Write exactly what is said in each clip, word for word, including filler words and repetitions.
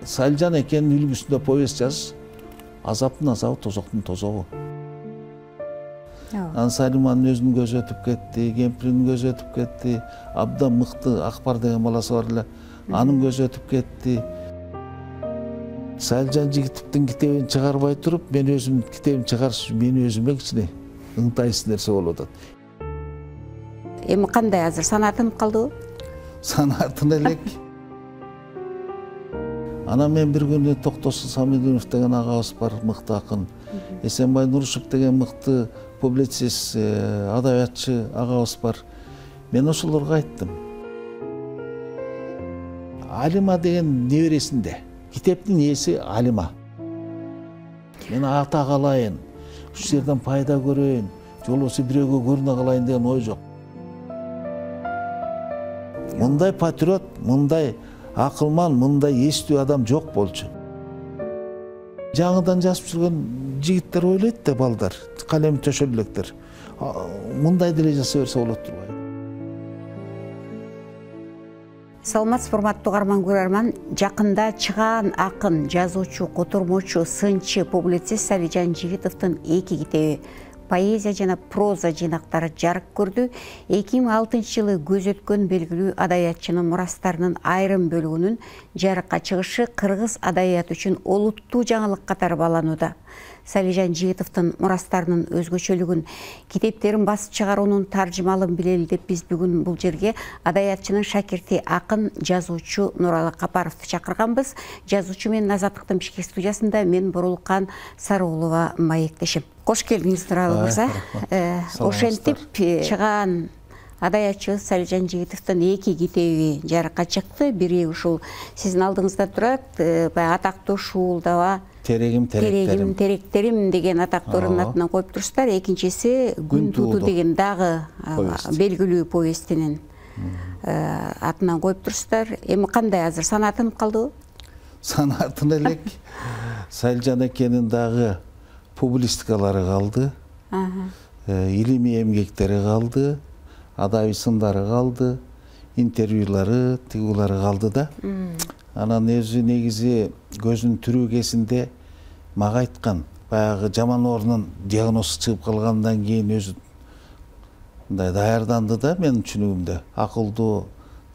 Салижан экенин үлгүсүндө повесть жазыш азаптын азабы, тозоктун тозогу. Анан Салиманын өзүнүн көзү өтүп кетти, кемпиринин көзү өтүп кетти, абдан мыкты Акбар деген баласы бар эле, анын көзү өтүп кетти. Салижан Жигитовдун китебин чыгарбай туруп, мен өзүм китебин чыгарыш мени өзүмө кичине ыңтайсыз нерсе болуп атат. Эми кандай азыр санаатынып калдыбы? Санаатын элек. Анан мен бир күнү Токтосун Самидинов деген агабыз бар, мыкты акын. Эсенбай Нурушев деген мыкты публицист, адабиятчы агабыз бар. Мен ошолорго айттым. Алима деген небересинде. Китептин ээси Алима. Мен ата калайын, ушул жерден пайда көрөйүн, же болбосо бирөөгө көрүнө калайын деген ой жок. Мындай патриот, мындай акылман, мындай эстүү адам жок болчу. Жаңыдан жазып жүргөн жигиттер ойлойт да, балдар, калеми төшөлө электер. Мындай деле жаса берсе болот турбайбы? Саламатсыз урматтуу угарман көрөрман, жакында чыгаан акын, жазуучу, котормочу, сынчы, публицист Салижан Жигитовдун эки китеби поэзия жана проза жыйнактары жарык көрдү. эки миң алтынчы жылы көз өткөн белгилүү адабиятчынын мурастарынын айрым бөлүгүнүн жарыкка чыгышы кыргыз адабияты үчүн олуттуу жаңылык катары бааланууда. Салижан Жигитовдун мурастарынын өзгөчөлүгүн, китептерин басып чыгаруунун таржымалын билели деп биз бүгүн бул жерге адабиятчынын шакирти, акын, жазуучу Нуралы Капаровду чакырганбыз. Жазуучу менен Азаттыктын бишкек студиясында мен Борулкан Сарыулова маектешим. Кош келдиңиз Нуралы мырза. Ошентип чыгаан адабиятчыбыз Салижан Жигитовдун эки китеби жарыкка чыкты. Бири ушул сиздин алдыңызда турат, баягы атактуу Шуулдаба Терегим теректерим теректерим деген атактуурунун атынан коюп турсуздар. Экинчиси Күн тууду деген дагы белгилүү повестинин атынан коюп турсуздар. Эми кандай азыр санаатынып калдыбы? Санаатын элек. Салижан экенин дагы публистикалары калды, илимий эмгектери калды, адабий сындары калды, интервьюлары, тыгуулары калды да. Анан өзү негизи көзүнүн түрүү кезинде мага айткан, баягы жаман оорунун диагнозу чыгып калгандан кийин өзү мындай даярданды да, менин түшүнүгүмдө. Акылдуу,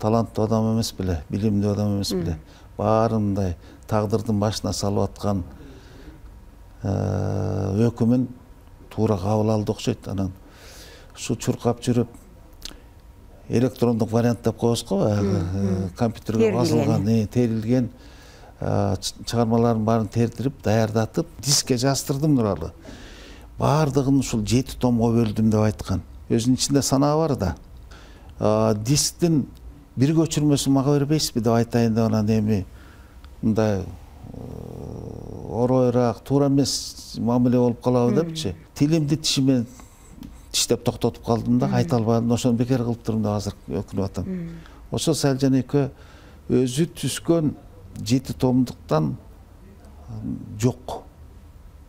таланттуу адам эмес беле, билимдүү адам эмес беле. Баары мындай тагдырдын башына салып аткан өкүмүн туура кабыл алды окшойт. Анан ушу чуркап жүрүп электрондук вариант деп коебуз го, баягы компьютерге басылган, терилген чыгармалардын баарын тертирип, даярдатып, дискке жаздырдым Нуралы. Баардыгын ушул жети томго бөлдүм деп айткан. Өзүнүн ичинде санаа бар да. Дисктин бир көчүрмөсүн мага бербейсизби деп айтайын деп, анан эми мындай оройраак, туура эмес мамиле болуп калабы депчи. Тилимди тишимен тиштеп токтотуп калдым да, айта албадым. Ошону бекер кылып турдум деп азыр өкүнүп атам. Ошо Салижан экөө өзү түзгөн жети томдуктан жок.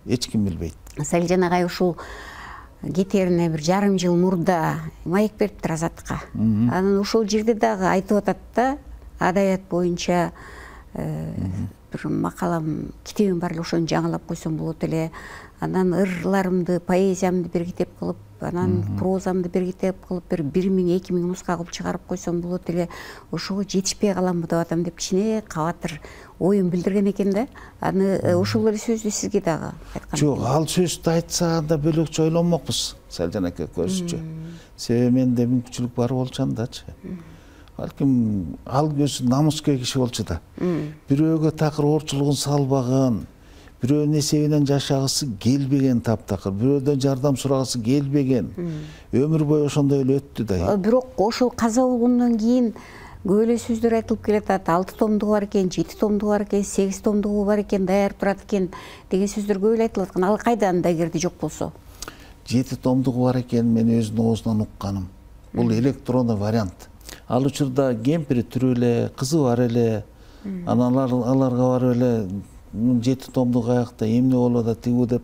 Эч ким билбейт. Салижан агай ушул кетерине бир жарым жыл мурда маек бериптир Азаттыкка. Анан ушул жерде дагы айтып атат да, адабият боюнча бир макалам, китебим бар эле, ошону жаңылап койсом болот эле. Анан ырларымды, поэзиямды бир китеп кылып, анан прозамды бир китеп кылып, бир бир миң, эки миң нуска кылып чыгарып койсом болот эле. Ошого жетишпей каламбы деп атам деп кичине кабатыр оюн билдирген экен да. Аны ушул эле сөздү сизге дагы айткан. Жок, ал сөздү айтса анда бөлөкчө ойлонмокпуз Салижан эке көзүчө. Себеби менде мүмкүнчүлүк бар болчу андачы. Балким ал өзү намыскер киши болчу да. Бирөөгө такыр оорчулугун салбаган, бирөөнүн эсебинен жашагысы келбеген таптакыр, бирөөдөн жардам сурагысы келбеген. Өмүр бою ошондой эле өттү да. Бирок ошол каза болгондон кийин көп эле сөздөр айтылып келатат. алты томдугу бар экен, жети томдугу бар экен, сегиз томдугу бар экен, даяр турат экен деген сөздөр көп эле айтылып аткан. Ал кайдан да кирди жок болсо? жети томдугу бар экен, мен өзүнүн оозунан укканым. Бул электрондук вариант. Ал учурда кемпири тирүү эле, кызы бар эле. Анан аларга барып эле жети томдук аякта эмне болуп атат тигүү деп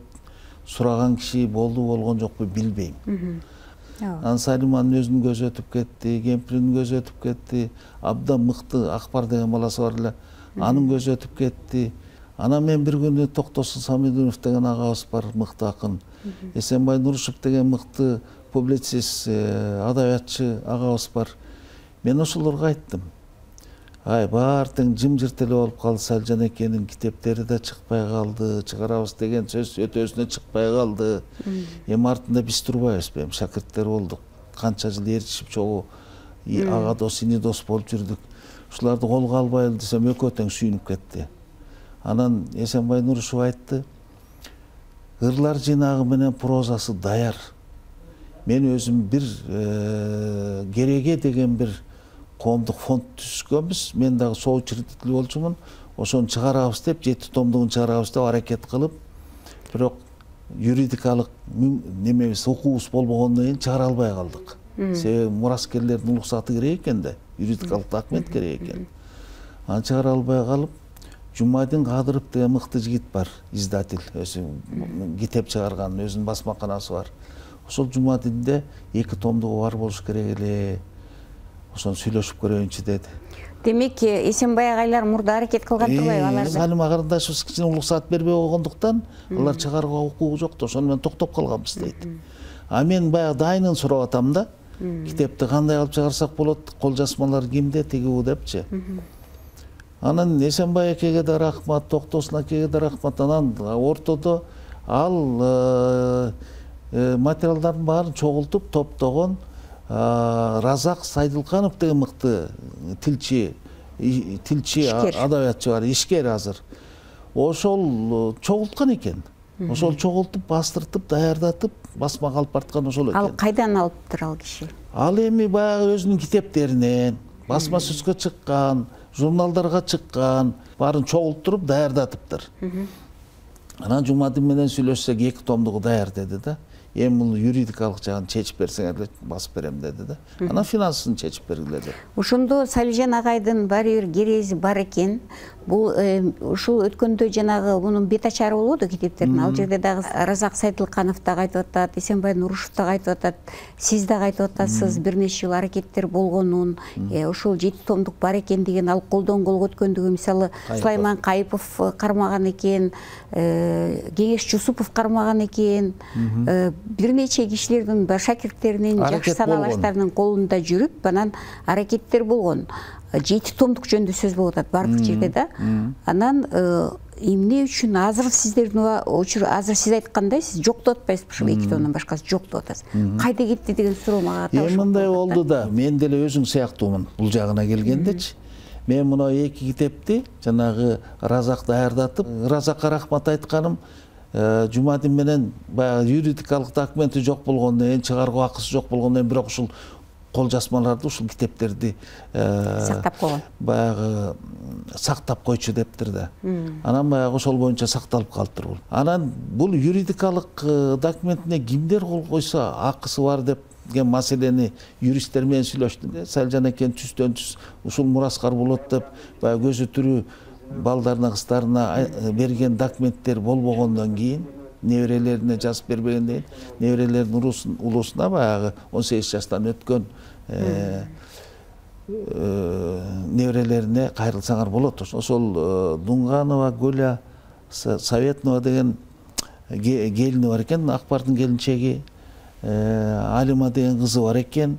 сураган киши болду болгон жокпу билбейм. Анан Салиманын өзүнүн көзү өтүп кетти, кемпиринин көзү өтүп кетти. Абдан мыкты Акбар деген баласы бар эле. Анын көзү өтүп кетти. Анан мен бир күнү Токтосун Самидинов деген агабыз бар, мыкты акын. Эсенбай Нурушев деген мыкты публицист, адабиятчы агабыз бар. Мен ошолорго айттым. Ай, баары тең жымжырт эле болуп калды. Салжан экенин китептери да чыкпай калды. Чыгарабыз деген сөз өтөсүнө чыкпай калды. Эми артында биз турбайбызбы? Эми шакирттер болдук. Канча жыл ээрчишип чогуу ага дос, ини дос болуп жүрдүк. Ушуларды колго албайлы десем экөө тең сүйүнүп кетти. Анан Эсенбай Нурушев айтты: "Ырлар жыйнагы менен прозасы даяр. Мен өзүм бир Кереге деген бир коомдук фонд түзгөнбүз. Мен дагы соучредитель болчумун. Ошону чыгарабыз деп, жети томдугун чыгарабыз деп аракет кылып, бирок юридикалык немебиз, укугубуз болбогондон кийин чыгара албай калдык. Себеби мураскерлердин уруксаты керек экен да, юридикалык документ керек экен. Аны чыгара албай калып, Жумадин Кадыров деген мыкты жигит бар, издатель, өзү китеп чыгарган, өзүнүн басмаканасы бар. Ошол Жумадинде эки томдугу бар болуш керек эле. Ошону сүйлөшүп көрөйүнчү деди. Демек, Эсенбай агайлар мурда аракет кылган турбайбы аларды? Салима карындашыбыз кичине уруксат бербей койгондуктан алар чыгарууга укугу жок да, ошону менен токтоп калганбыз дейт. А мен баягы дайынын сурап атам да. Китепти кандай кылып чыгарсак болот, кол жазмалар кимде, тигибу депчи. Анан Эсенбай экеге да рахмат, Токтосун акеге да рахмат. Анан ортодо ал материалдардын баарын чогултуп топтогон Разак Сайдылканов деген мыкты тилчи, тилчи адабиятчы бар, ишкер азыр. Ошол чогулткан экен. Ошол чогултуп, бастыртып, даярдатып, басмага алып барткан ошол экен. Ал кайдан алыптыр ал киши? Ал эми баягы өзүнүн китептеринен, басма сөзгө чыккан, журналдарга чыккан, баарын чогултуруп, даярдатыптыр. Анан Жумадин менен сүйлөшсөк эки томдугу даяр деди да. Эми бул юридикалык жагын чечип берсеңер эле басып берем деди да. Анан финансын чечип бергиле деп. Ошондо Салижан агайдын баары бир керези бар экен. Бул ушул өткөндө жанагы мунун бет ачары болбоду китептердин. Ал жерде дагы Разак Сайдылканов да айтып атат, Эсенбай Нурушев да айтып атат, сиз да айтып атасыз, бир нече жыл аракеттер болгонун, ошол жети томдук бар экен деген, ал колдон колго өткөндүгү, мисалы Сулайман Кайыпов кармаган экен, Кеңеш Жусупов кармаган экен, бир нече кишилердин, шакирттеринин, жакшы саналаштарынын колунда жүрүп, анан аракеттер болгон. Жети томдук жөнүндө сөз болуп атат бардык жерде да. Анан эмне үчүн азыр сиздердин азыр сиз айткандай сиз жок деп атпайсызбы, ушул эки томдон башкасы жок деп атасыз. Кайда кетти деген суроо мага табылды. Эми мындай болду да, мен деле өзүң сыяктуумун бул жагына келгендечи. Мен мына эки китепти жанагы Разак даярдатып, Разакка рахмат айтканым, Жумадин менен баягы юридикалык документи жок болгондон кийин, чыгаруу акысы жок болгондон кийин, бирок ушул кол жазмаларды, ушул китептерди сактап койгон. Баягы сактап койчу дептир да. Анан баягы ошол боюнча сакталып калыптыр бул. Анан бул юридикалык документине кимдер кол койсо акысы бар деген маселени юристтер менен сүйлөштүм. Салжан экен түздөн түз ушул мураскар болот деп, баягы көзү тирүү балдарына, кыздарына берген документтер болбогондон кийин, неберелерине жазып бербегенден кийин, неберелердин улусуна баягы он сегиз жаштан өткөн неберелерине кайрылсаңар болот. Ошол Дунганова Гуля Советнова деген келини бар экен, Акбардын келинчеги, Алима деген кызы бар экен.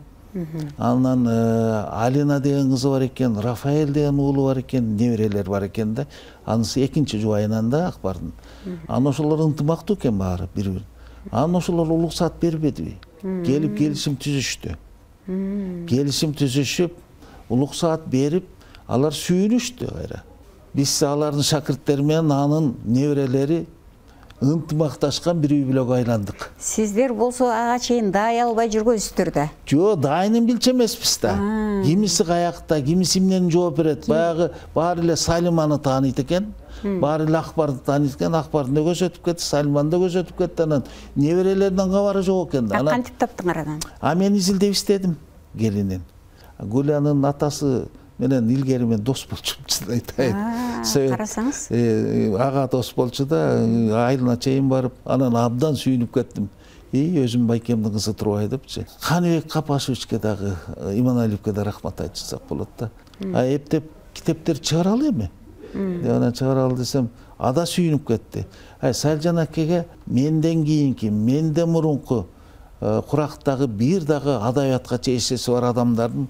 Анан Алина деген кызы бар экен, Рафаэль деген уулу бар экен, неберелер бар экен да. Анысы экинчи жубайынан да Акбардын. Анан ошолор ынтымактуу экен баары бири-бири. Анан ошолор уруксат бербедиби? Келип келишим түзүштү. Келишим түзүшүп, уруксат берип, алар сүйүнүштү кайра. Биз алардын шакирттери менен анын неберелери ынтымакташкан бир үй бүлөгө айландык. Сиздер болсо ага чейин даай албай жүргөнсүздөр да. Жок, дайынын билчү эмеспиз да. Кимиси каякта, кимиси эмнени жооп берет. Баягы баары эле Салиманы тааныйт экен. Баары эле Акбарды тааныйт экен. Акбардын да көзү өтүп кетти, Салиманын да көзү өтүп кетти. Анан неберелеринин кабары жок экен да. Кантип таптыңар анан? А мен изилдеп издедим келинин. Гулянын атасы менен илгери мен дос болчумун, айтайын. Карасаңыз. Ага дос болчу да, айылына чейин барып, анан абдан сүйүнүп кеттим. и өзүм байкемдин кызы Турбай депчи. Каныбек Капашевичке дагы, Иманалиевке да рахмат айтышсак болот да. А эптеп китептер чыгаралы эми. Деп анан чыгаралы десем, ада сүйүнүп кетти. Ай Салжан акеге менден кийинки, менден мурунку курактагы бир дагы адабиятка чечеси бар адамдардын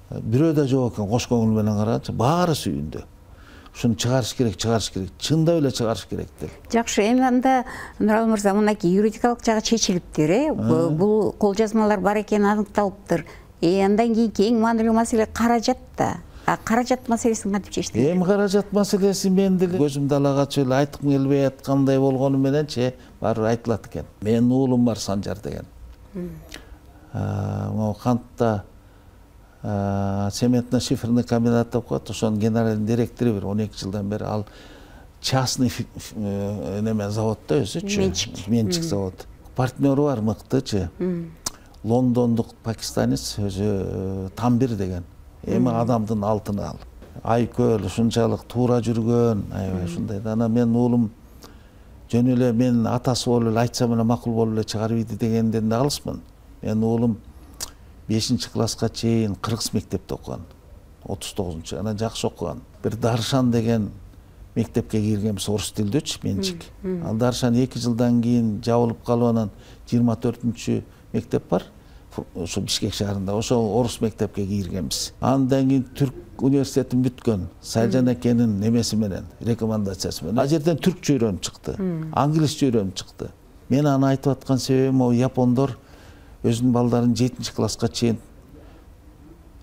бирөө да жок экен, кош көңүл менен карачы, баары сүйүндү. Ушуну чыгарыш керек, чыгарыш керек, чындап эле чыгарыш керек деп. Жакшы, эми анда Нуралы мырза, мынакей юридикалык жагы чечилиптир, э? Бул кол жазмалар бар экени аныкталыптыр. Э, андан кийинки эң маанилүү маселе каражат да. А каражат маселесин кантип чечтиңер? Эми каражат маселеси мен деле көзүмдү ала качып эле айткым келбей аткандай болгону мененчи баары айтылат экен. Менин уулум бар, Санжар деген. Могу кантта цементно-шиферный комбинат деп коет, ошонун генеральный директору бир он эки жылдан бери, ал частный неме заводдо өзүчү. Менчик. Менчик завод. Партнеру бар мыктычы. Лондондук пакистанец өзү Тамбир деген. Эми адамдын алтыны ал. Айкөл ушунчалык туура жүргөн, аябай ушундай. Анан менин уулум жөн эле мен атасы болуп эле айтсам эле макул болуп эле чыгарып ийди дегенден да алысмын. Менин уулум бешинчи класска чейин кыргыз мектепте окуган. отуз тогузунчу. Анан жакшы окуган. Бир Даршан деген мектепке киргенбиз, орус тилдүүчү, Менчик. Ал Даршан эки жылдан кийин жабылып калып, анан жыйырма төртүнчү мектеп бар. Ошо Бишкек шаарында, ошо орус мектепке киргенбиз. Андан кийин түрк университетин бүткөн, Салжан акенин немеси менен, рекомендациясы менен. А жерден түркчө үйрөнүп чыкты, англисче үйрөнүп чыкты. Мен аны айтып аткан себебим, могу япондор өзүнүн балдарын жетинчи класска чейин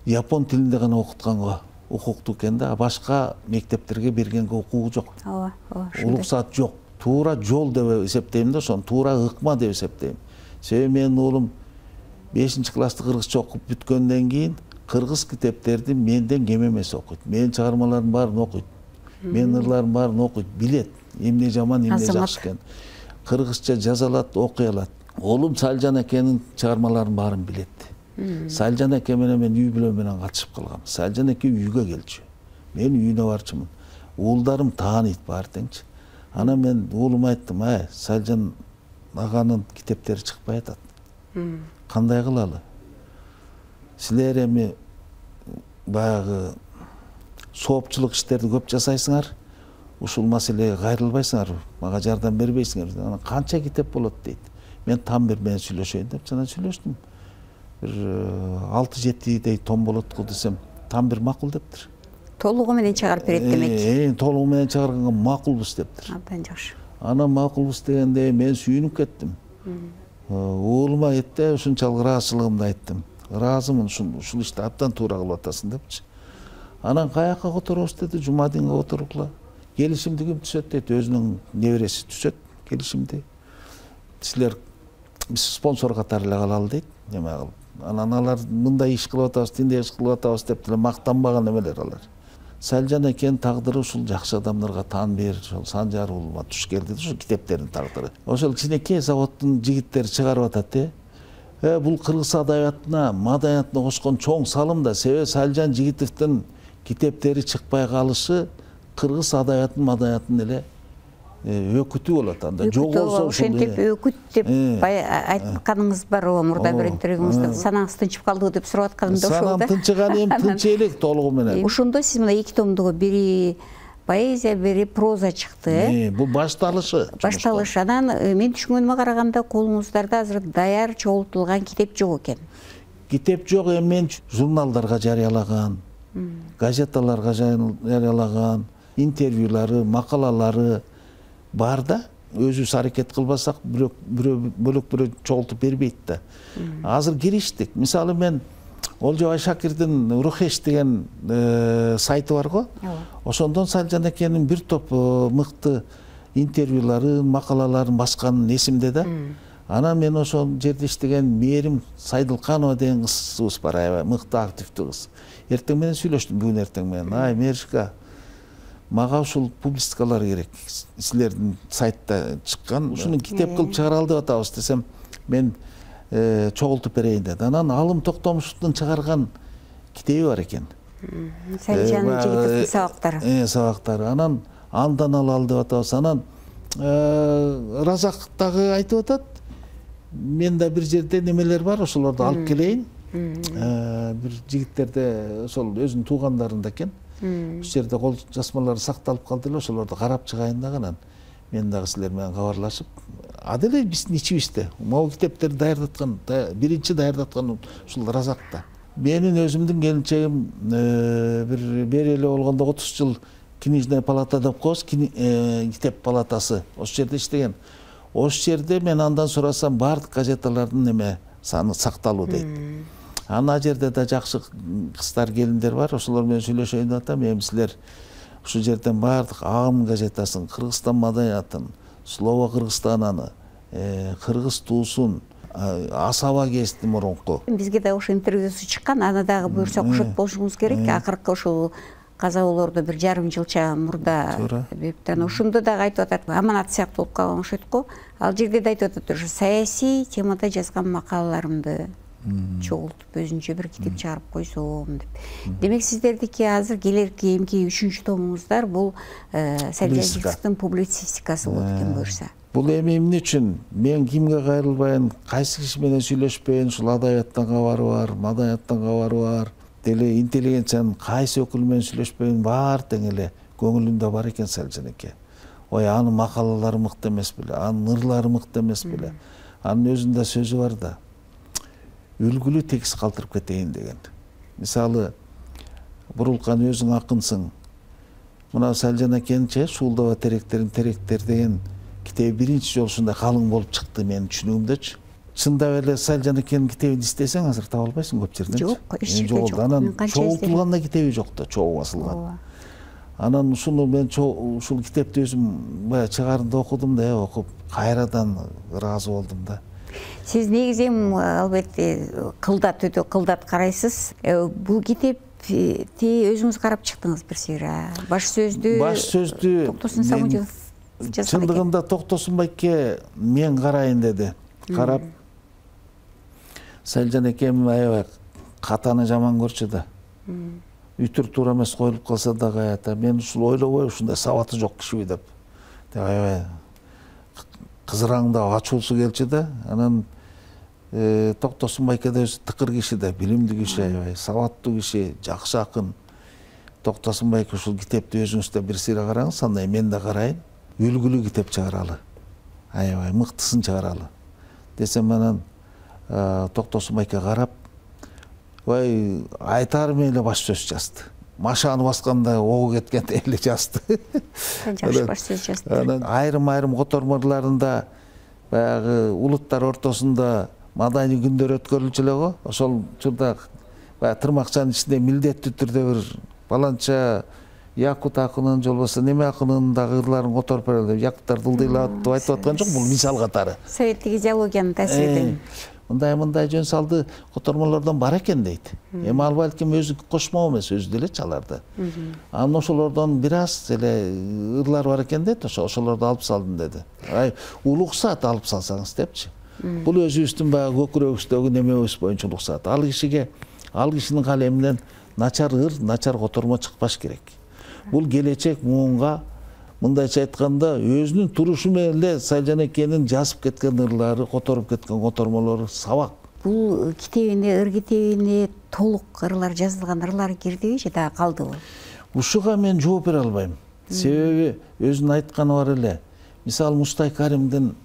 япон тилинде гана окутканга укуктуу экен да, башка мектептерге бергенге укугу жок. Ооба, ооба. Уруксат жок. Туура жол деп эсептейм да, ошону туура ыкма деп эсептейм. Себеби менин уулум бешинчи классты кыргызча окуп бүткөндөн кийин кыргыз китептерди менден кем эмес окуйт. Менин чыгармаларымдын баарын окуйт. Менин ырларымдын баарын окуйт, билет. Эмне жаман, эмне жакшы экен. Кыргызча жаза алат, окуй алат. Оğlum Салжан акенин чыгармаларын баарын билет. Салжан аке менен мен үй бүлө менен катышып калгам. Салжан аке үйгө келчү. Мен үйүнө барчумун. Уулдарым тааныйт баары теңчи. Анан мен уулума айттым, ай, Салжан аганын китептери чыкпай атат. Кандай кылалы? Силер эми баягы соопчулук иштерди көп жасайсыңар. Ушул маселеге кайрылбайсыңар, мага жардам бербейсиңер. Анан канча китеп болот дейт. Мен Тамбир менен сүйлөшөйүн деп жана сүйлөштүм. Бир алты жетидей том болот го десем, Тамбир макул дептир. Толугу менен чыгарып берет демек. Э, толугу менен чыгарганга макулбуз дептир. Абдан жакшы. Анан макулбуз дегенде мен сүйүнүп кеттим. Уулума айтты, ушунчалык ыраазычылыгымды айттым. Ыраазымын, ушул ишти абдан туура кылып атасың депчи. Анан каяка которобуз деди, Жумадинге которгула. Келишимди ким түзөт дейт, өзүнүн небереси түзөт келишимди. Силер биз спонсор катары эле калалы дейт. Неме кылып. Анан алар мындай иш кылып атабыз, тиндей иш кылып атабыз деп деле мактанбаган эмелер алар. Салжан акенин тагдыры ушул жакшы адамдарга таан бер, ошол Санжар уулума туш келди, ушул китептердин тагдыры. Ошол кичинекей заводдун жигиттери чыгарып атат, э. Э, бул кыргыз адабиятына, маданиятына кошкон чоң салым да, себеби Салжан Жигитовдун китептери чыкпай калышы кыргыз адабиятынын, маданиятынын эле өкүтү болот анда. Жок болсо ошентип өкүт деп айтканыңыз бар, о мурда бир интервьюңузда санаңыз тынчып калды деп сурап атканымда ошол да. Санам тынчыган эми тынч элек толугу менен. Ошондо сиз мына эки томдугу бири поэзия, бири проза чыкты, э? Бул башталышы. Башталыш. Анан мен түшүнгөнүмө караганда колуңуздарда азыр даяр чогултулган китеп жок экен. Китеп жок, эми мен журналдарга жарыялаган, газеталарга жарыялаган, интервьюлары, макалалары бар да, өзүбүз аракет кылбасак бирок бөлөк бирөө чогултуп бербейт да. Азыр кириштик. Мисалы мен Олжобай Шакирдин Рухеш деген сайты бар го. Ошондон Салжан акенин бир топ мыкты интервьюларын, макалаларын басканын эсимде да. Анан мен ошол жерде иштеген Мээрим Сайдылканова деген кызыбыз бар, аябай мыкты активдүү кыз. Эртең менен сүйлөштүм, бүгүн эртең менен. Ай, Меришка, мага ушул публистикалар керек. Силердин сайтта чыккан, ушуну китеп кылып чыгаралы деп атабыз десем, мен чогултуп берейин деди. Анан Алым Токтомушевдун чыгарган китеби бар экен. Салжан Жигитовдун сабактары. Э, сабактары. Анан андан алалы деп атабыз. Анан Разак дагы айтып атат. менде бир жерде немелер бар, ошолорду алып келейин. Бир жигиттерде ошол өзүнүн туугандарында экен. Ошол жерде кол жазмалары сакталып калды эле, ошолорду карап чыгайын дагы анан мен дагы силер менен кабарлашып, аделе биздин ичибизде могу китептерди даярдаткан, биринчи даярдаткан ушул Разакта. Менин өзүмдүн келинчегим бир бери эле болгондо отуз жыл книжная палата деп коебуз, китеп палатасы. Ошол жерде иштеген. Ошол жерде мен андан сурасам, баардык газеталардын неме саны сакталуу дейт. Ана жерде да жакшы кыздар, келиндер бар. Ошолор менен сүйлөшөйүн деп атам. Эми силер ушул жерден баардык Ам газетасын, Кыргызстан маданиятын, Слово Кыргызстананы, Кыргыз туусун, Асаба гезитин мурунку. Бизге да ошо интервьюсу чыккан, аны дагы буюрса окушуп болушуңуз керек. Акыркы ошол казалоолорду бир жарым жылча мурда бериптир. Анан ошондо дагы айтып атат, аманат сыяктуу болуп калган окшойт го. Ал жерде да айтып атат, ошо саясий темада жазган макалаларымды чогултуп өзүнчө бир китеп чыгарып койсом деп. Демек сиздердики азыр келерки эмки үчүнчү томуңуздар бул Салжан Жигитовдун публицистикасы болот экен буюрса. Бул эми эмне үчүн? Мен кимге кайрылбайын, кайсы киши менен сүйлөшпөйүн, ушул адабияттан кабары бар, маданияттан кабары бар, деле интеллигенциянын кайсы өкүлү менен сүйлөшпөйүн, баары тең эле көңүлүндө бар экен Салжан эке. Ой, анын макалалары мыкты эмес беле, анын ырлары мыкты эмес беле. Анын өзүндө сөзү бар да. Үлгүлүү текст калтырып кетейин деген. Мисалы, Бурулкан өзүң акынсың. Мына Салжан экенчи Шуулдаба теректерин теректер деген китеби биринчи жолу ушундай калың болуп чыкты менин түшүнүгүмдөчү. Чындап эле Салжан экенин китебин издесең азыр таба албайсың көп жерден. Жок, эч жерде жок. Анан чогултулганда китеби жок да, чогуу басылган. Анан ушуну мен ушул китепти өзүм баягы чыгарында окудум да, окуп кайрадан ыраазы болдум да. Сиз негизи эми албетте кылдат, өтө кылдат карайсыз. Бул китепти өзүңүз карап чыктыңыз бир сыйра. Баш сөздү Баш сөздү Токтосун Самудинов жазган экен. Чындыгында Токтосун байке мен карайын деди. Карап Салжан экем аябай катаны жаман көрчү да. Үтүр туура эмес коюлуп калса да каята. Мен ушул ойлобой ушундай сабаты жок кишиби деп. Аябай кызыраңдап ачуусу келчү да. Анан Токтосун байке да өзү тыкыр киши да, билимдүү киши, аябай сабаттуу киши, жакшы акын. Токтосун байке ушул китепти өзүңүз да бир сыйра караңыз, андай мен да карайын. Үлгүлүү китеп чыгаралы. Аябай мыктысын чыгаралы. Десем анан Токтосун байке карап, ой, айтарым эле баш сөз жазды. Машаны басканда огу кеткендей эле жазды. Жакшы баш сөз жазды. Анан айрым-айрым котормолорунда баягы улуттар ортосунда маданий күндөр өткөрүлчү эле го. Ошол учурда баягы тырмакчанын ичинде милдеттүү түрдө бир баланча якут акынын же болбосо неме акынын дагы ырларын которуп берели. Якуттар дылдыйлап деп айтып аткан жок, бул мисал катары. Советтик идеологиянын таасириден. Мындай-мындай жөн салды котормолордон бар экен дейт. Эми ал балким өзү кошмоо эмес, өзү деле чаларды. Анан ошолордон бир аз эле ырлар бар экен дейт, ошолорду алып салдым деди. Ай, улуксат алып салсаңыз депчи. Бул өзүбүздүн баягы көкүрөгүбүздөгү немебиз боюнча улуксат. Ал кишиге, ал кишинин калеминен начар ыр, начар котормо чыкпаш керек. Бул келечек муунга, мындайча айтканда, өзүнүн турушу менен эле Салжан экенин жазып кеткен ырлары, которуп кеткен котормолору сабак. Бул китебине, ыр китебине толук ырлар жазылган ырлар кирдиби же дагы калдыбы? Ушуга мен жооп бере албайм. Себеби өзүнүн айтканы бар эле. Мисалы Мустай Каримдин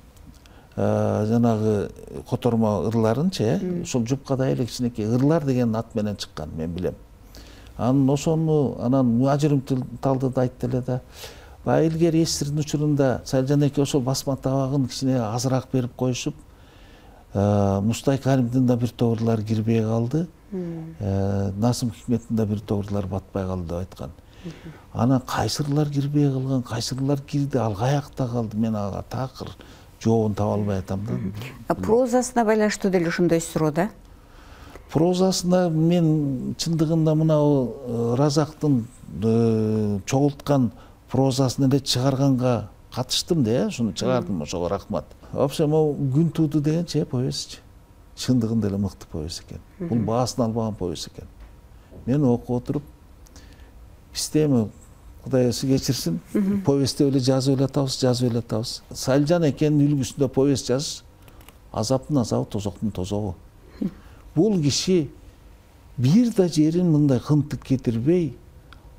жанагы котормо ырларынчы, ушул жупкада эле кичинекей ырлар деген ат менен чыккан, мен билем. Анан ошону анан муажирим талды да айтты эле да. Баягы илгери эсирдин учурунда Салжан эке ошол басма табагын кичине азыраак берип коюшуп, Мустай Каримдин да бир топ ырлары кирбей калды. Насым Хикметтин да бир топ ырлары батпай калды деп айткан. Анан кайсы ырлар кирбей калган, кайсы ырлар кирди, ал каякта калды, мен ага такыр жообун таба албай атам да. Прозасына байланыштуу деле ошондой суроо да. Прозасына мен чындыгында мына Разактын чогулткан прозасын эле чыгарганга катыштым да, ушуну чыгардым, ошого рахмат. Вообще могу Күн тууду дегенчи повесть. Чындыгында эле мыкты повесть экен. Бул баасын албаган повесть экен. Мен окуп отуруп, бизде эми Кудай өзү кечирсин, повестти эле жазып эле атабыз, жазып эле атабыз. Салжан экенин үлгүсүндө повесть жазыш азаптын азабы, тозоктун тозогу. Бул киши бир да жерин мындай кынтык кетирбей,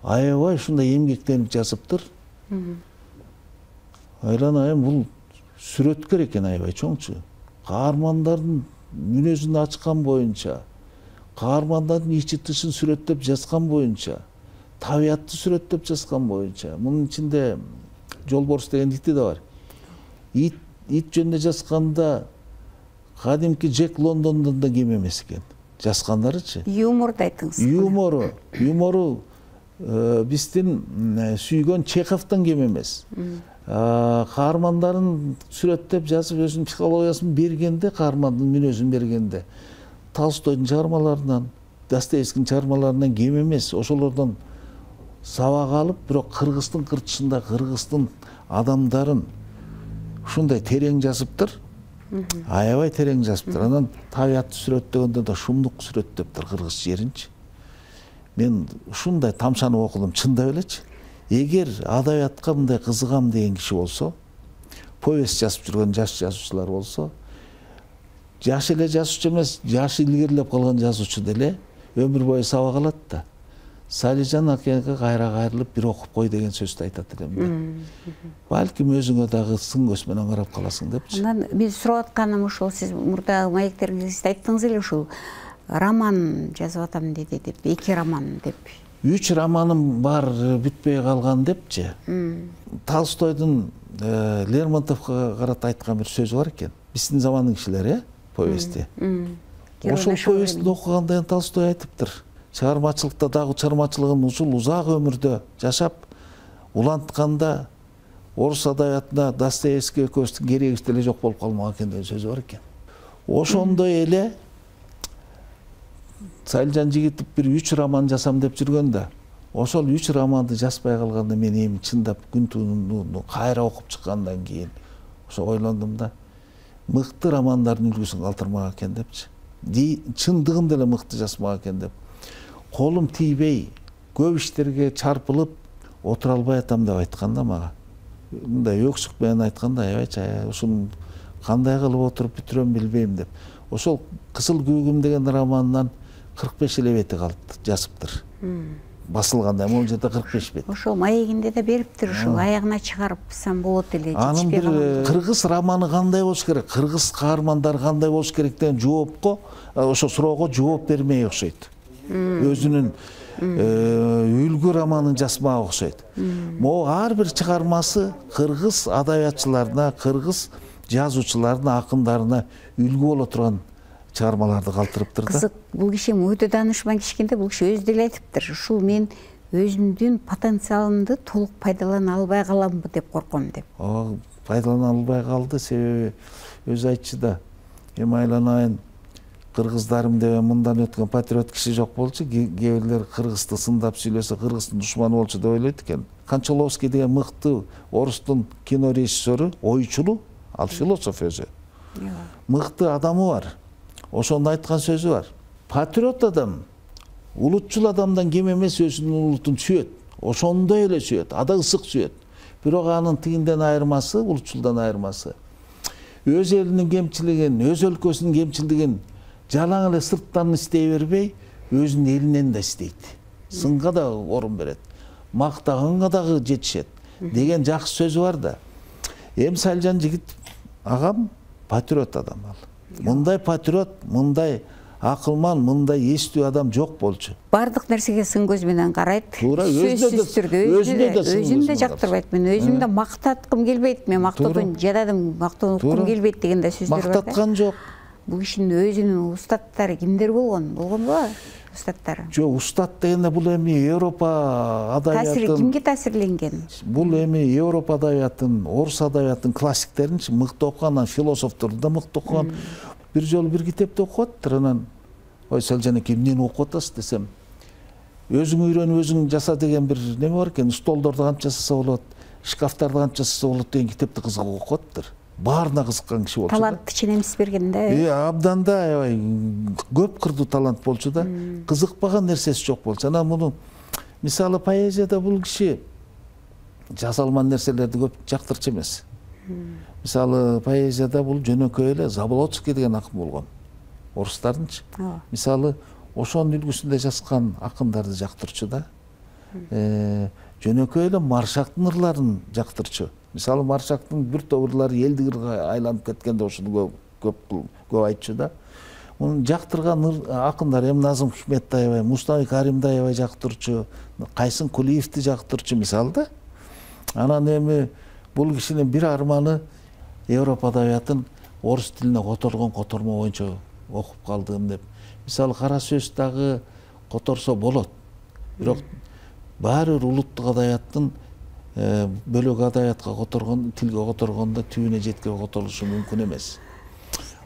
аябай ушундай эмгектенип жазыптыр. Айланайын, бул сүрөткөр экен, аябай чоңчу. Каармандардын мүнөзүн ачкан боюнча, каармандардын ичи тышын сүрөттөп жазган боюнча, табиятты сүрөттөп жазган боюнча. Мунун ичинде Жолборс деген ити да бар. Ит, ит жөнүндө жазганда кадимки Джек Лондондон да кем эмес экен. Жазгандарычы. Юморду айтыңыз. Юмору, юмору биздин сүйгөн Чеховдон кем эмес. Каармандарын сүрөттөп жазып, өзүнүн психологиясын бергенде, каармандын мүнөзүн бергенде, Толстойдун чыгармаларынан, Достоевскийдин чыгармаларынан кем эмес. Ошолордон сабак алып, бирок кыргыздын кырчысында кыргыздын адамдарын ушундай терең жазыптыр. Аябай терең жазыптыр. Анан табиятты сүрөттөгөндө да шумдук сүрөттөптүр кыргыз жеринчи. Мен ушундай тамшанып окудум, чындап элечи. Эгер адабиятка мындай кызыгам деген киши болсо, повесть жазып жүргөн жаш жазуучулар болсо, жаш эле жазуучу эмес, жашы илгерилеп калган жазуучу деле өмүр бою сабак алат да. Салижан акеге кайра кайрылып бир окуп кой деген сөздү айтат элем да. Балким өзүңө дагы сын көз менен карап каласың депчи. Анан мен сурап атканым ушул, сиз мурдагы маектериңизде айттыңыз эле ушул роман жазып атам деди деп, эки роман деп. Үч романым бар, бүтпөй калган депчи. Толстойдун Лермонтовго карата айткан бир сөзү бар экен. Биздин замандын кишилери, повести. Ошол повестти окугандан кийин Толстой айтыптыр. Чыгармачылыкта дагы чыгармачылыгын ушул узак өмүрдө жашап, улантканда орус адабиятына Достоевский экөөбүздүн керегибиз деле жок болуп калмаган экен деген сөзү бар экен. Ошондой эле Салижан Жигитов бир үч роман жасам деп жүргөндө, ошол үч романды жазбай калганда мен эми чындап күн тууну кайра окуп чыккандан кийин ошо ойлондум да, мыкты романдардын үлгүсүн калтырмак экен депчи. Чындыгын деле мыкты жазмак экен деп. Колум тийбей, көп иштерге чарпылып отура албай атам деп айткан да мага. Мындай өксүк менен айтканда, аябайчы, ушуну кандай кылып отуруп бүтүрөм билбейм деп. Ошол Кызыл күүгүм деген романдан кырк беш эле бети калыптыр, жазыптыр. Басылганда, могул жерде кырк беш бет. Ошол маегинде да бериптир, ушул аягына чыгарыпсам болот эле. Анын бир кыргыз романы кандай болуш керек, кыргыз каармандары кандай болуш керек деген жоопко, ошо суроого жооп бермей окшойт. Өзүнүн үлгү романын жазмак окшойт. Могу ар бир чыгармасы кыргыз адабиятчыларына, кыргыз жазуучуларына, акындарына үлгү боло турган чыгармаларды калтырыптыр да. Кызык, бул киши өтө даанышман киши экен да, бул киши өзү деле айтыптыр. Ушул мен өзүмдүн потенциалымды толук пайдалана албай каламбы деп корком деп. О, пайдалана албай калды, себеби өзү айтчу да. Эми айланайын, кыргыздарым деген мындан өткөн патриот киши жок болчу, кээ бирлер кыргызды сындап сүйлөсө кыргыздын душманы болчу деп ойлойт экен. Кончаловский деген мыкты орустун кино режиссеру, ойчулу, ал философ өзү. Мыкты адамы бар. Ошондо айткан сөзү бар. Патриот адам улутчул адамдан кем эмес, өзүнүн улутун сүйөт. Ошондой эле сүйөт, ада ысык сүйөт. Бирок анын тигинден айырмасы, улутчулдан айырмасы, өз элинин кемчилигин, өз өлкөсүнүн кемчилигин жалаң эле сырттан истей бербей, өзүнүн элинен да истейт. Сынга да орун берет, мактаганга дагы жетишет деген жакшы сөзү бар да. Эми Салижан Жигитов агам патриот адам ал. Мындай патриот, мындай акылман, мындай эстүү адам жок болчу. Бардык нерсеге сын көз менен карайт. Туура, өзүнө да өзүн да жактырбайт. Мен өзүм да мактаткым келбейт. Мен мактоодон жададым, мактоонукум келбейт деген да сөздөр бар. Мактаткан жок. Бул кишинин өзүнүн устаттары кимдер болгон? Болгонбу устаттары? Жок, устат дегенде бул эми Европа адабиятын. Таасири кимге таасирленген? Бул эми Европа адабиятын, орус адабиятын классиктеринчи мыкты окуган, философторду да мыкты окуган. Бир жолу бир китепти окуп аттыр, анан ой Салижан эке эмнени окуп атасыз десем, өзүң үйрөнүп өзүң жаса деген бир неме бар экен, столдорду кантип жасаса болот, шкафтарды кантип жасаса болот деген китепти кызыгып окуп аттыр. Баарына кызыккан киши болчу да. Талантты ченемис берген да. Э, абдан да, аябай көп кырдуу талант болчу да. Кызыкпаган нерсеси жок болчу. Анан муну мисалы поэзияда бул киши жаза алман нерселерди көп жактырчу эмес. Мисалы поэзияда бул жөнөкөй эле Заболоцкий деген акын болгон. Орустардынчы. Мисалы ошонун үлгүсүндө жазган акындарды жактырчу да. Жөнөкөй эле Маршактын ырларын жактырчу. Мисалы Маршактын бир топ ырлары элдик ырга айланып кеткенде ошону көп көп айтчу да. Мунун жактырган акындар эми Назым Хикметти аябай, Мустафа Каримди аябай жактырчу, Кайсын Кулиевди жактырчу мисалы да. Анан эми бул кишинин бир арманы Европа адабиятын орус тилине которгон котормо боюнча окуп калдым деп. Мисалы кара сөз дагы которсо болот. Бирок баары бир улуттук адабияттын бөлөк адабиятка которгон, тилге которгондо түбүнө жеткенге которулушу мүмкүн эмес.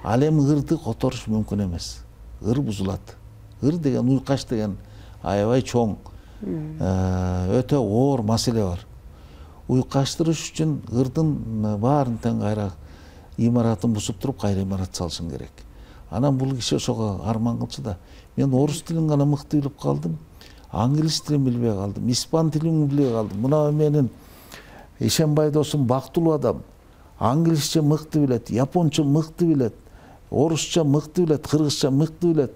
Ал эми ырды которуш мүмкүн эмес. Ыр бузулат. Ыр деген, уйкаш деген аябай чоң, өтө оор маселе бар. Уйкаштырыш үчүн ырдын баарын тең кайра имаратын бузуп туруп кайра имарат салышың керек. Анан бул киши ошого арман кылчу да. Мен орус тилин гана мыкты билип калдым, англис тилин билбей калдым, испан тилин билбей калдым. Мына менин Ишенбай досум бактылуу адам. Англисче мыкты билет, японча мыкты билет, орусча мыкты билет, кыргызча мыкты билет.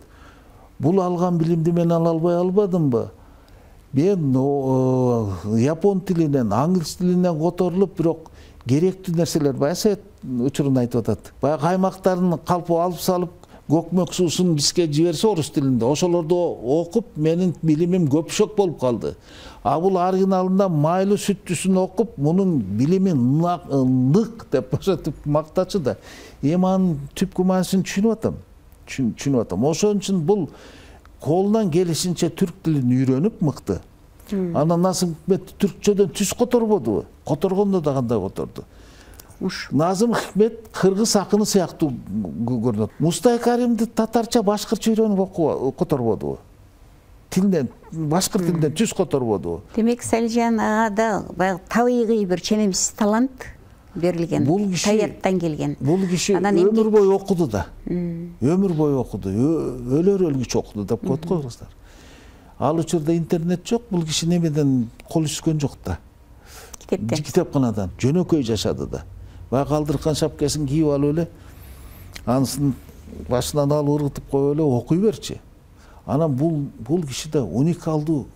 Бул алган билимди мен ала албай албадымбы? Мен япон тилинен, англис тилинен которулуп, бирок керектүү нерселер баягы Совет учурунда айтып атат. Баягы аймактардын калпы алып салып, көкмөк суусун бизге жиберсе орус тилинде, ошолорду окуп, менин билимим көпшөк болуп калды. А бул оригиналында майлуу сүттүсүн окуп, мунун билими нык деп ошентип мактачу да. Эми анын түпкү мааниsin түшүнүп атам. Түшүнүп атам. Ошон үчүн бул колунан келишинче түрк тилин үйрөнүп мыкты. Анан Назым Хикмет түркчөдөн түз которбодубу? Которгондо да кандай которду? Назым Хикмет кыргыз акыны сыяктуу көрүнөт. Мустафа Каримди татарча, башкыртча үйрөнүп которбодубу? Тилден, башкыр тилден түз которбодубу? Демек Салижан агада баягы табигый бир ченемсиз талант берилген, табияттан келген. Бул киши өмүр бою окуду да. Өмүр бою окуду, өлөр өлгүчө окуду деп коет го кыргыздар. Ал учурда интернет жок, бул киши немеден кол үзгөн жок да. Китептен. Китепканадан жөнөкөй жашады да. Баягы калдыркан шапкасын кийип алып эле, анысын башынан алып ыргытып коюп эле окуй берчи. Анан бул бул кишиде уникалдуу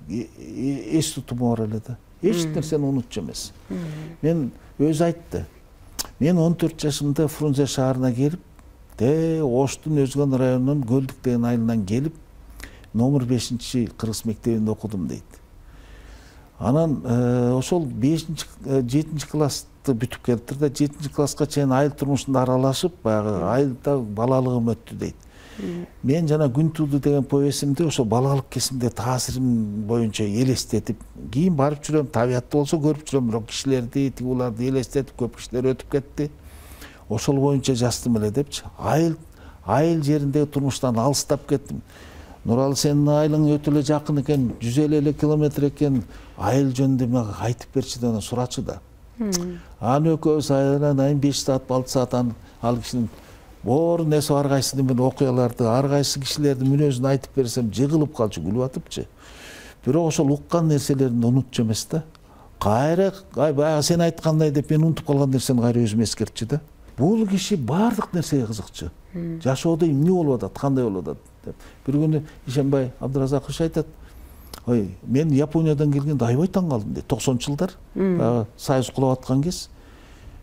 эс тутуму бар эле да. Эч нерсени унутчу эмес. Мен өзү айтты. Мен он төрт жашымда Фрунзе шаарына келип, те Оштун Өзгөн районунун Көлдүк деген айылынан келип, номер бешинчи кыргыз мектебинде окудум дейт. Анан ошол бешинчи жетинчи классты бүтүп келиптир да, жетинчи класска чейин айыл турмушунда аралашып, баягы айылда балалыгым өттү дейт. Мен жана Күн тууду деген повесимде ошо балалык кезимде таасирим боюнча элестетип, кийин барып жүрөм, табиятты болсо көрүп жүрөм, бирок кишилерди, тигуларды элестетип, көп кишилер өтүп кетти. Ошол боюнча жаздым эле депчи. Айыл айыл жериндеги турмуштан алыстап кеттим. Нуралы, сенин айылың өтө эле жакын экен, жүз элүү километр экен, айыл жөнүндө мага айтып берчи деп сурачу да. Анан экөөбүз айылдан беш саат, алты саат ал кишинин боор несі ар кайсыны мен окуяларды, ар кайсы кишилердин мүнөзүн айтып берсем, жыгылып калчу, күлүп атыпчы. Бирок ошол уккан нерселерин унутчу эмес да. Кайра, ай баягы сен айткандай деп мен унутуп калган нерсени кайра өзүм эскертчү да. Бул киши баардык нерсеге кызыкчу. Жашоодо эмне болуп атат, кандай болуп атат деп. Бир күнү Ишенбай Абдыразакович айтат: "Ой, мен Япониядан келгенде аябай таң калдым" дейт. токсонунчу жылдар, баягы Союз кулап аткан кез.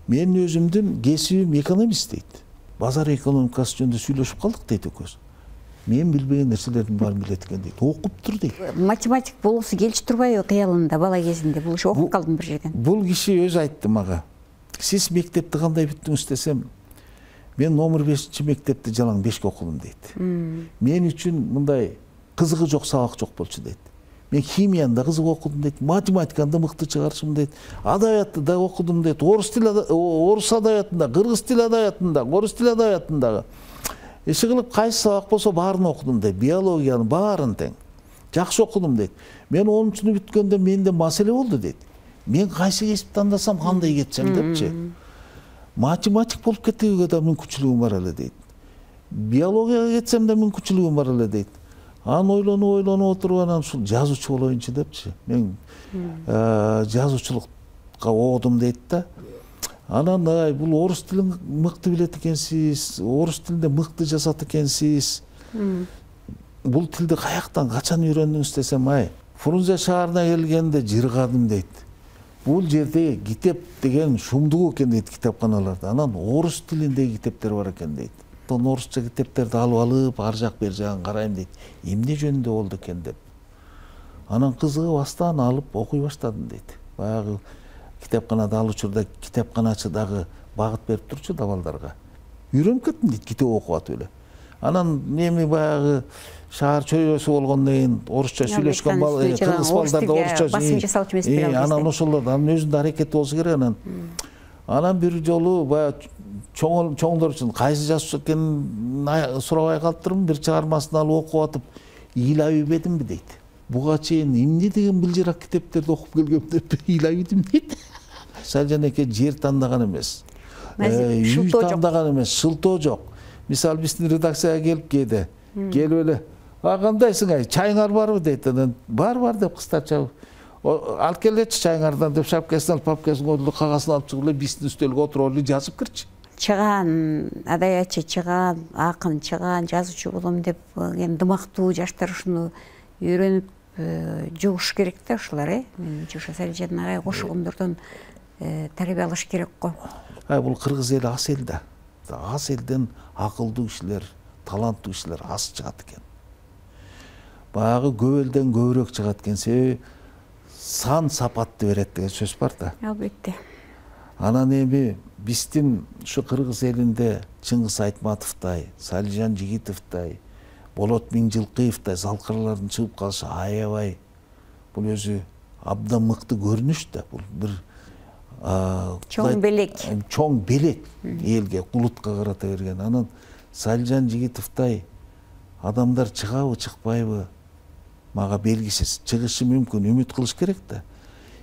Мен өзүмдүн кесибим экономист дейт. Базар экономикасы жөнүндө сүйлөшүп калдык дейт экөөбүз. Мен билбеген нерселердин баарын билет экен дейт. Окуптур дейт. Математик болгусу келчү турбайбы кыялында бала кезинде? Бул ошо окуп калдым бир жерден. Бул киши өзү айтты мага. Сиз мектепти кандай бүттүңүз десем, мен номер бешинчи мектепти жалаң бешке окудум дейт. Мен үчүн мындай кызыгы жок сабак жок болчу дейт. Мен химияны да кызык окудум дейт, математиканы да мыкты чыгарышым дейт, адабиятты да окудум дейт, орус тил орус адабиятында, кыргыз тил адабиятында, орус тил адабиятындагы. Иши кылып кайсы сабак болсо баарын окудум дейт, биологияны баарын тең. Жакшы окудум дейт. Мен онунчуну бүткөндө менде маселе болду дейт. Мен кайсы кесипти тандасам, кандай кетсем депчи. Математик болуп кетүүгө да мүмкүнчүлүгүм бар эле дейт. Биологияга кетсем да мүмкүнчүлүгүм бар эле дейт. Анан ойлонуп ойлонуп отуруп анан ушул жазуучу болоюнчу депчи. Мен жазуучулукка окудум дейт да. Анан ай бул орус тилин мыкты билет экенсиз, орус тилинде мыкты жазат экенсиз. Бул тилди каяктан качан үйрөндүңүз десем, ай Фрунзе шаарына келгенде жыргадым дейт. Бул жерде китеп деген шумдук экен дейт китапканаларда. Анан орус тилиндеги китептер бар экен дейт. Орусча китептерди алып алып, ар жак бер жагын карайм дейт. Эмне жөнүндө болду экен деп. Анан кызыгып астан алып окуй баштадым дейт. Баягы китапканада ал учурда китапканачы дагы багыт берип турчу да балдарга. Үйрөнүп кеттим дейт китеп окуп атып эле. Анан эми баягы шаар чөйрөсү болгондон кийин орусча сүйлөшкөн бала, кыргыз балдар да орусча басым жасалчу эмес бир ал. Анан ошолор анын өзүндө аракет болсу керек анан. Анан бир жолу баягы чоң чоңдор үчүн кайсы жазуучу экенин сурабай калыптырмын, бир чыгармасын алып окуп атып, ыйлап ийбедимби дейт. Буга чейин эмне деген былжырак китептерди окуп келгем деп ыйлап ийдим дейт. Салжан эке жер тандаган эмес. Үй тандаган эмес, шылтоо жок. Мисалы биздин редакцияга келип кээде, келип эле, "А кандайсың ай, чайыңар барбы?" дейт. Анан "Бар, бар" деп кыстарча алып келечи чайыңардан деп шапкасын алып, папкасын коюп, кагасын алып чыгып эле биздин үстөлгө отуруп эле жазып кирчи. Чыган адаятчы, чыган акын, чыган жазуучу болом деп эми дымактуу жаштар ушуну үйрөнүп жугуш керек да ушулар, э. Менимче ошо Салижан агай кошугундордон тарбия алыш керек го. Ай бул кыргыз эли ас эл да. Ас элден акылдуу кишилер, таланттуу кишилер аз чыгат экен. Баягы көп элден көбүрөөк чыгат экен, себеби сан сапатты берет деген сөз бар да. Албетте. Анан эми биздин ушу кыргыз элинде Чыңгыз Айтматовдой, Салижан Жигитовдой, Болот Миңжилкыевдой залкырлардын чыгып калышы аябай бул өзү абдан мыкты көрүнүш да. Бул бир чоң белек. Чоң белек элге, улутка карата берген. Анан Салижан Жигитовдой адамдар чыгабы, чыкпайбы? Мага белгисиз. Чыгышы мүмкүн, үмүт кылыш керек да.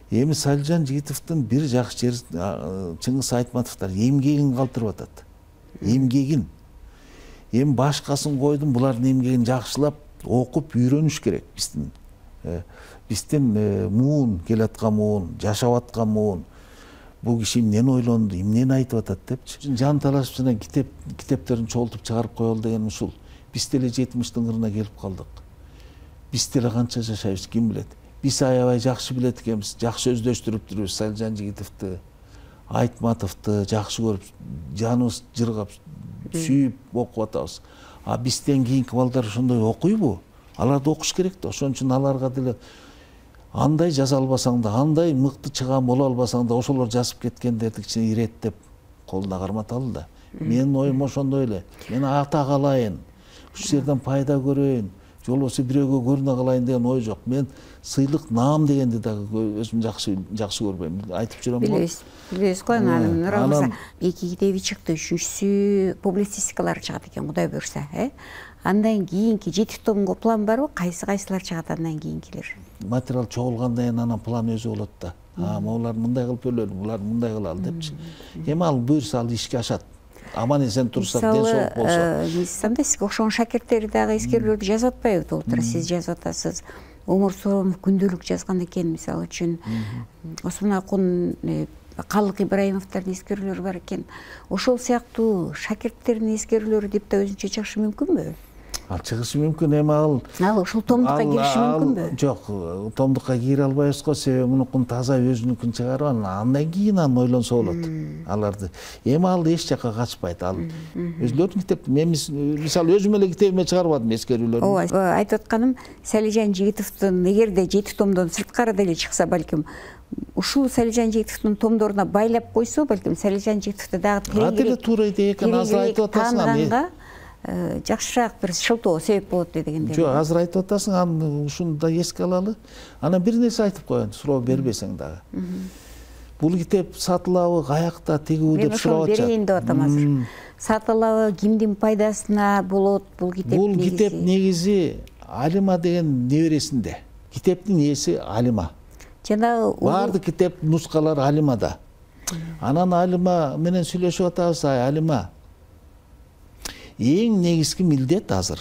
Эми Салижан Жигитовдун бир жакшы жери Чыңгыз Айтматовдор эмгегин калтырып атат. Эмгегин. Эми башкасын койдум, булардын эмгегин жакшылап окуп үйрөнүш керек биздин. Биздин муун келаткан муун, жашап аткан муун. Бул киши эмнени ойлонду, эмнени айтып атат депчи. Жан талашып жана китеп китептерин чогултуп чыгарып коелу деген ушул. Биз деле жетимиштин кырына келип калдык. Биз деле канча жашайбыз, ким билет. Биз аябай жакшы билет экенбиз, жакшы өздөштүрүп жүрүбүз. Салижан Жигитовду, Айтматовду жакшы көрүп, жаныбыз жыргап, сүйүп окуп атабыз. А бизден кийинки балдар ошондой окуйбу? Аларды окуш керек да. Ошон үчүн аларга деле андай жаза албасаң да, андай мыкты чыган боло албасаң да, ошолор жазып кеткендерди кичине иреттеп колуна карматалы да. Менин оюм ошондой эле. Мен ата калайын, ушул жерден пайда көрөйүн, же болбосо бирөөгө көрүнө калайын деген ой жок. Мен сыйлык, наам дегенди дагы өзүм жакшы жакшы көрбөйм. Айтып жүрөм го. Билебиз. Билебиз го анан Нурамырза эки китеби чыкты, үчүнчүсү публицистикалар чыгат экен, Кудай буйрса, э? Андан кийинки жети томго план барбы? Кайсы кайсылар чыгат андан кийинкилер? Материал чогулгандан кийин анан план өзү болот да. А, булар мындай кылып өлөлү, булар мындай кылалы депчи. Эми ал буйрса ал ишке ашат. Аман эсен турсак, ден соолук болсо. Мисалы, сизге окшогон шакирттери дагы эскерүүлөрдү жазып атпайбы? Толтура сиз жазып атасыз. Умур Сооронов күндөлүк жазган экен, мисалы үчүн. Осмон Акун, Калык Ибраимовдордун эскерүүлөрү бар экен. Ошол сыяктуу шакирттердин эскерүүлөрү деп да өзүнчө чыгышы мүмкүнбү? Ал чыгышы мүмкүн, эми ал ал ушул томдукка кириши мүмкүнбү? Жок, томдукка кире албайбыз го, себеби мунукун таза өзүнүкүн чыгарып, андан кийин аны ойлонсо болот. Аларды. Эми ал эч жакка качпайт. Ал өзүлөрүнүн китеп, мен мисалы өзүм эле китебиме чыгарбадым эскерүүлөрүн. Ооба, айтып атканым, Салижан Жигитовдун эгерде жети томдон сырткары деле чыкса, балким ушул Салижан Жигитовдун томдоруна байлап койсо, балким Салижан Жигитовду дагы тереңирээк туура идея экен, азыр айтып атасың. Жакшыраак бир шылтоо себеп болот дегенде. Жок, азыр айтып атасың, аны ушуну да эске алалы. Анан бир нерсе айтып коеюн, суроо бербесең дагы. Бул китеп сатылабы, каякта, тигүү деп сурап атышат. Мен берейин деп атам азыр. Сатылабы, кимдин пайдасына болот бул китеп? Бул китеп негизи Алима деген небересинде. Китептин ээси Алима. Жанагы баардык китеп нускалар Алимада. Анан Алима менен сүйлөшүп атабыз, ай Алима. Эң негизги милдет азыр.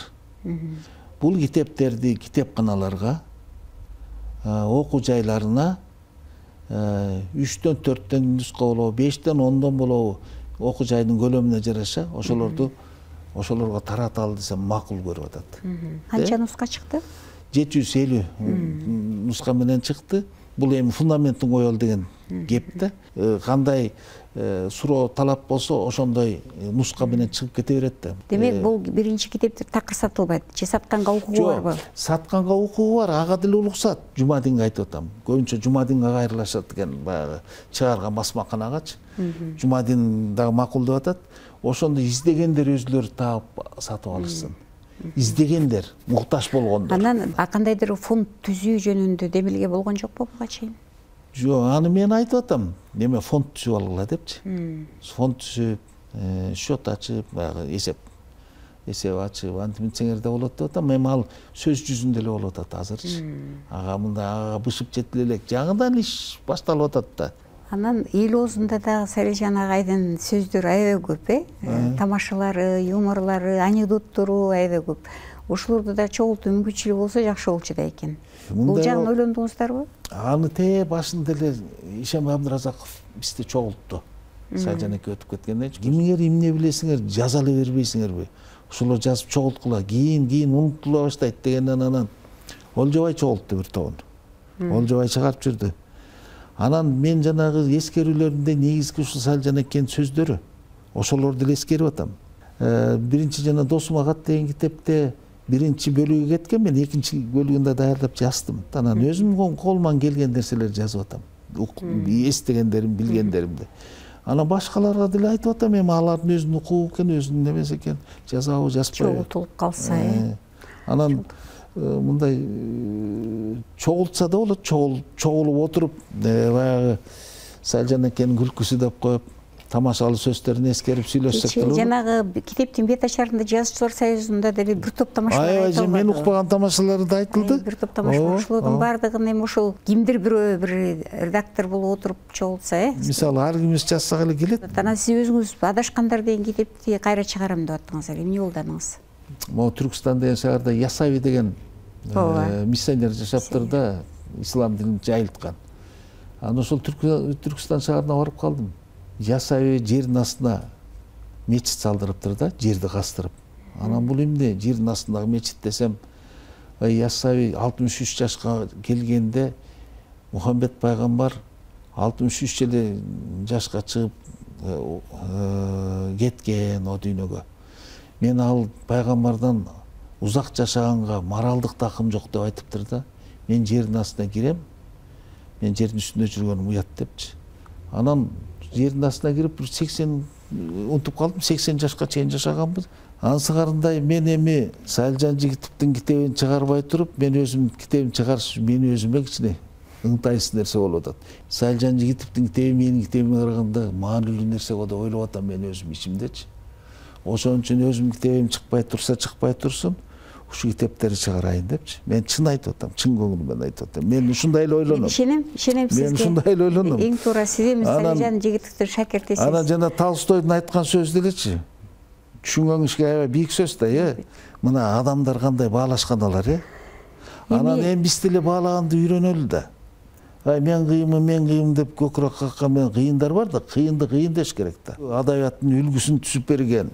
Бул китептерди китепканаларга, окуу жайларына үчтөн төрттөн нуска болобу, бештен ондон болобу окуу жайдын көлөмүнө жараша ошолорду ошолорго тараталы десем макул көрүп атат. Канча нуска чыкты? жети жүз элүү нуска менен чыкты. Бул эми фундаментин коелу деген кеп да. Кандай суроо талап болсо ошондой нуска менен чыгып кете берет да. Демек бул биринчи китептер такыр сатылбайт же сатканга укугу барбы? Жок, сатканга укугу бар, ага деле улуксат. Жумадинге айтып атам. Көбүнчө Жумадинге кайрылышат экен баягы чыгарган басмаканагачы. Жумадин дагы макул деп атат. Ошондо издегендер өзүлөрү таап сатып алышсын. Издегендер, муктаж болгондор. Анан кандайдыр фонд түзүү жөнүндө демилге болгон жокпу буга чейин? Жок, аны мен айтып атам. Неме фонд түзүп алгыла депчи. Фонд түзүп, счет ачып, баягы эсеп эсеп ачып, антиминсеңерде болот деп атам. Эми ал сөз жүзүндө эле болуп атат азырчы. Ага мында ага бышып жетиле элек. Жаңыдан иш башталып атат да. Анан эл оозунда дагы Салижан агайдын сөздөрү аябай көп, э? Тамашалары, юморлары, анекдоттору аябай көп. Ошолорду да чогултуу мүмкүнчүлүгү болсо жакшы болчу да экен. Бул жагын ойлондуңуздарбы? Аны те башында эле Ишем Абдыразаков бизде чогултту. Салижан эки өтүп кеткенден кийин кимиңер эмне билесиңер, жаза эле бербейсиңерби? Ошолор жазып чогулткула, кийин кийин унутула баштайт дегенден анан Олжобай чогултту бир тобун. Олжобай чыгарып жүрдү. Анан мен жанагы эскерүүлөрүмдө негизги ушул Салижан экенин сөздөрү. Ошолорду эле эскерип атам. Биринчи жана Досума кат деген китепте биринчи бөлүгү кеткен, мен экинчи бөлүгүндө даярдап жаздым. Анан өзүм колуман келген нерселерди жазып атам. Эстегендерим, билгендеримди. Анан башкаларга деле айтып атам, эми алардын өзүнүн укугу экен, өзүнүн немеси экен. Жазабы, жазбайбы. Чогултулуп калса, э. Анан мындай чогултса да болот, чогулуп отуруп, баягы Салижан экенин күлкүсү деп коюп, тамашалуу сөздөрүн эскерип сүйлөшсөк болот. Жанагы китептин бет ачарында Жазуучулар союзунда деле бир топ тамашалар айтылды. Аябай, мен укпаган тамашалары да айтылды. Бир топ тамашалар, ошолордун баардыгын эми ошол кимдир бирөө бир редактор болуп отуруп чогултса, э? Мисалы, ар кимибиз жазсак эле келет. Анан сиз өзүңүз Адашкандар деген китепти кайра чыгарам деп аттыңыз, эмне колдонуңуз? Могу Түркстан деген шаарда Ясави деген миссионер жашаптыр да, ислам динин жайылткан. Анан ошол Түркстан шаарына барып калдым. Ясави жердин астына мечит салдырыптыр да, жерди кастырып. Анан бул эмне, жердин астындагы мечит десем, Ясави алтымыш үч жашка келгенде Мухаммед пайгамбар алтымыш үч эле жашка чыгып кеткен о дүйнөгө. Мен ал пайгамбардан узак жашаганга моралдык такым жок деп айтыптыр да. Мен жердин астына кирем, мен жердин үстүндө жүргөнүм уят депчи. Анан жердин астына кирип бир сексен унутуп калдым, сексен жашка чейин жашаганбыз. Ансыгарындай мен эми Салижан Жигитовдун китебин чыгарбай туруп, мен өзүм китебин чыгарыш мени өзүмө кичине ыңтайсыз нерсе болуп атат. Салижан Жигитовдун китеби менин китебиме караганда маанилүү нерсе го деп ойлоп атам мен өзүм ичимдечи. Ошон үчүн өзүм китебим чыкпай турса, чыкпай турсун, ушу китептерди чыгарайын депчи. Мен чын айтып атам, чын көңүлүмөн айтып атам. Мен ушундай эле ойлоном. Ишенем, ишенем сизге. Мен ушундай эле ойлоном. Эң туура сиз эми Салижан Жигитовдун шакиртисиз. Анан жана Толстойдун айткан сөзү делечи. Түшүнгөнүңүзгө аябай бийик сөз да, э. Мына адамдар кандай баалашкан алар, э. Анан эми биз деле баалаганды үйрөнөлү да. Ай мен кыйынмын, мен кыйынмын деп көкүрөк каккан мен кыйындар бар да, кыйынды кыйын деш керек да. Адабияттын үлгүсүн түзүп берген,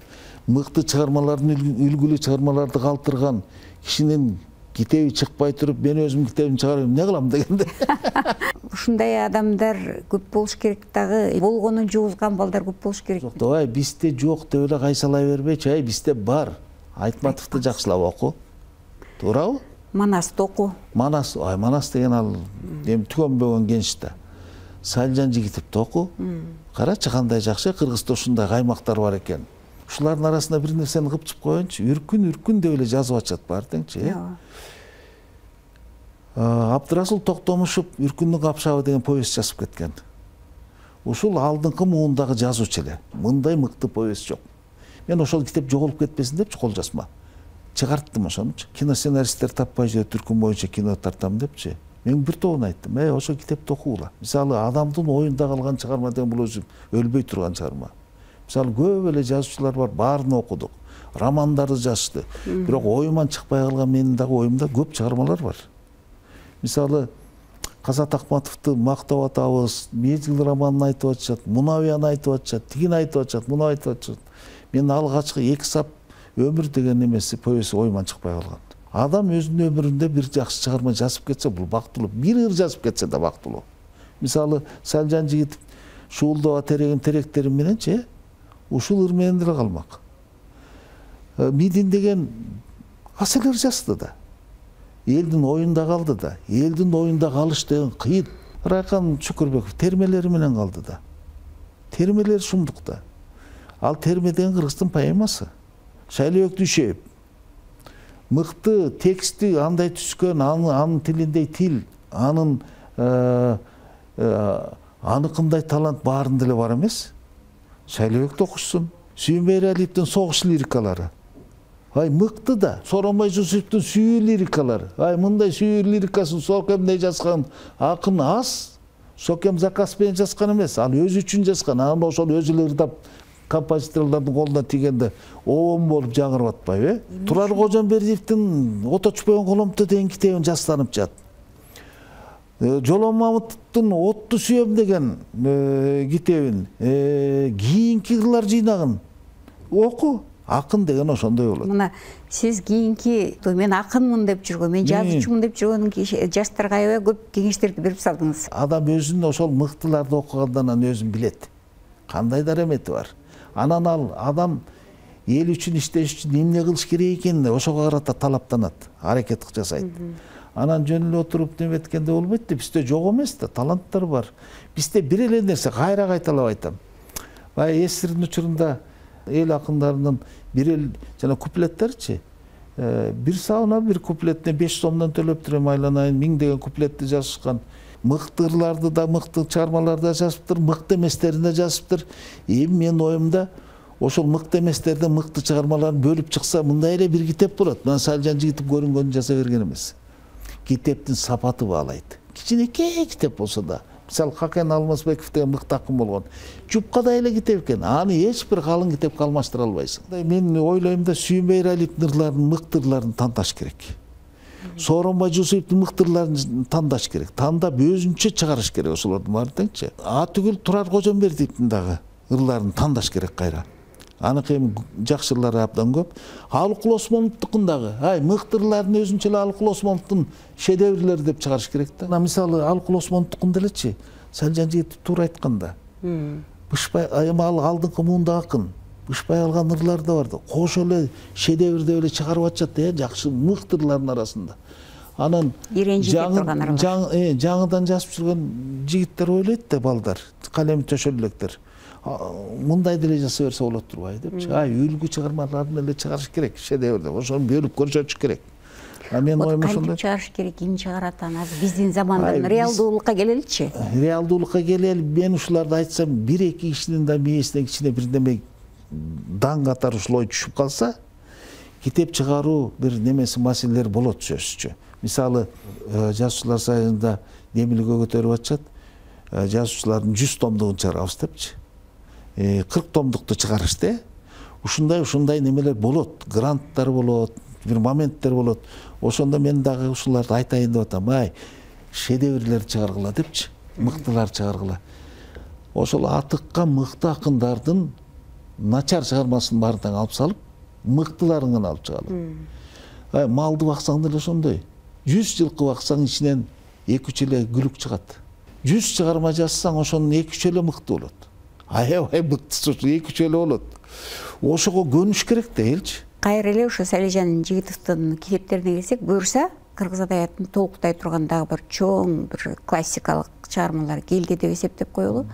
мыкты чыгармалардын үлгүлүү чыгармаларды калтырган кишинин китеби чыкпай туруп, мен өзүм китебимди чыгарып эмне кылам дегенде. Ушундай адамдар көп болуш керек дагы, болгонун жуузган балдар көп болуш керек. Жок, ай бизде жок деп эле кайсалай бербечи, ай бизде бар. Айтматовду жакшылап оку. Туурабы? Манасты оку. Манас, ай Манас деген ал эми түгөнбөгөн кенч да. Салижан Жигитовду оку. Карачы кандай жакшы, Кыргызда ушундай каймактар бар экен. Ушулардын арасында бир нерсени кыпчып коеюнчу, үркүн үркүн деп эле жазып атышат баары теңчи, э. Абдырасул Токтомушев Үркүндүн капшабы деген повесть жазып кеткен. Ушул алдыңкы муундагы жазуучу эле. Мындай мыкты повесть жок. Мен ошол китеп жоголуп кетпесин депчи кол жазма. Чыгарттым ошонучу. Киносценаристтер таппай жүрөт, түркүн боюнча кино тартам депчи. Мен бир тобуна айттым, э, ошол китепти окугула. Мисалы, адамдын оюнда калган чыгарма деген бул өзү өлбөй турган чыгарма. Мисалы, көп эле жазуучулар бар, баарын окудук. Романдарды жазышты. Бирок оюман чыкпай калган менин дагы оюмда көп чыгармалар бар. Мисалы, Казат Акматовду мактап атабыз, Мезгил романын айтып атышат, Мунавияны айтып атышат, тигин айтып атышат, муну айтып атышат. Мен алгачкы эки сап өмүр деген эмеси повесть оюман чыкпай калган. Адам өзүнүн өмүрүндө бир жакшы чыгарма жазып кетсе, бул бактылуу. Бир ыр жазып кетсе да бактылуу. Мисалы, Салжан Жигитов Шуулдаба тереген теректери мененчи, ушул ыр менен деле калмак. Мидин деген асылыр жазды да. Элдин оюнда калды да. Элдин оюнда калыш деген кыйын. Райкан Чукурбеков термелери менен калды да. Термелер шумдук да. Ал терме деген кыргыздын поэмасы. Шайлообек Дүйшөев мыкты тексти андай түскөн, анын тилиндей тил, анын аныкындай талант баарын деле бар эмес. Шайлообекти окушсун. Сүйүнбай Эралиевдин согуш лирикалары. Ай мыкты да. Сооронбай Жусуповдун сүйүү лирикалары. Ай мындай сүйүү лирикасын Сокемдей жазган акын аз. Сокем заказ менен жазган эмес. Ал өзү үчүн жазган. Аны ошол өзү эле ырдап композиторлордун колуна тийгенде оом болуп жаңырып атпайбы? Турар Кожомбердиевдин Ото түшпөгөн коломто деген китебин жастанып жат. Жолон Мамытовдун Отту сүйөм деген китебин, кийинки ырлар жыйнагын оку. Акын деген ошондой болот. Мына сиз кийинки мен акынмын деп жүргөн, мен жазуучумун деп жүргөн жаштарга аябай көп кеңештерди берип салдыңыз. Адам өзүн ошол мыктыларды окугандан анан өзүн билет. Кандай дарамети бар. Анан ал адам эл үчүн иштеш үчүн эмне кылыш керек экенин ошого карата талаптанат, аракет жасайт. Анан жөн эле отуруп неметкенде болбойт да, бизде жок эмес да, таланттар бар. Бизде бир эле нерсе, кайра кайталап айтам. Бай эсирдин учурунда эл акындарынын бир эл жана куплеттерчи. Бир сабына бир куплетине беш сомдон төлөп турам айланайын, миң деген куплетти жазышкан. Мыкты ырларды да, мыкты чыгармаларды да жазыптыр, мыкты эместерин да жазыптыр. Эми менин оюмда ошол мыкты эместерден мыкты чыгармаларын бөлүп чыкса, мындай эле бир китеп болот. Мына Салжан Жигитов көрүнгөнүн жаза берген эмес. Китептин сапаты баалайт. Кичинекей китеп болсо да, мисалы Хакен Алмазбеков деген мыкты акын болгон. Жупкадай эле китеп экен. Аны эч бир калың китепке алмаштыра албайсың. Мен ойлойм да, Сүйүнбай Эралиевдин ырларын, мыкты ырларын тандаш керек. Сооронбай Жусуповдун мыкты ырларын тандаш керек. Тандап өзүнчө чыгарыш керек ошолордун баарын деңчи. А түгүл Турар Кожомбердиевдин дагы ырларын тандаш керек кайра. Аныкы эми жакшы ырлары абдан көп. Алыкул Осмоновдукун дагы, ай мыкты ырларын өзүнчө эле Алыкул Осмоновдун шедеврлери деп чыгарыш керек да. Мисалы Алыкул Осмоновдукун делечи, Салжан Жигитов туура айтканда. Бышпай эми ал алдыңкы муунда акын. Бышпай алган ырлар да бар да. Кош эле шедевр деп эле чыгарып атышат да, жакшы мыкты ырлардын арасында. Анан жаңыдан жазып жүргөн жигиттер ойлойт да, балдар, калеми төшөл электер. Мындай деле жаса берсе болот турбай депчи. Ай үлгү чыгармаларын эле чыгарыш керек, шедевр деп. Ошону бөлүп көрсөтүш керек. А мен оюм ошондой. Кантип чыгарыш керек, ким чыгарат аны? Биздин замандан реалдуулукка келеличи. Реалдуулукка келели, мен ушуларды айтсам, бир эки кишинин да мээсине кичине бир неме даң катары ушул ой түшүп калса, китеп чыгаруу бир немеси маселелер болот сөзсүзчө. Мисалы, жазуучулар союзунда демилге көтөрүп атышат, жазуучулардын жүз томдугун чыгарабыз депчи. кырк томдукту чыгарышты. Ушундай ушундай немелер болот, гранттар болот, бир моменттер болот. Ошондо мен дагы ушуларды айтайын деп атам. Ай, шедеврлер чыгаргыла депчи, мыктылар чыгаргыла. Ошол атыккан мыкты акындардын начар чыгармасын баарын алып салып, мыктыларын гана алып чыгалым. Ай, малды баксаң деле ошондой. жүз жылкы баксаң ичинен эки үч эле күлүк чыгат. жүз чыгарма жазсаң ошонун эки үч эле мыкты болот. Аябай мыктысы ушу эки үч эле болот. Ошого көнүш керек да элчи. Кайра эле ошо Салижан Жигитовдун китептерине келсек, буюрса кыргыз адабиятын толуктай турган дагы бир чоң бир классикалык чыгармалар келди деп эсептеп коелу.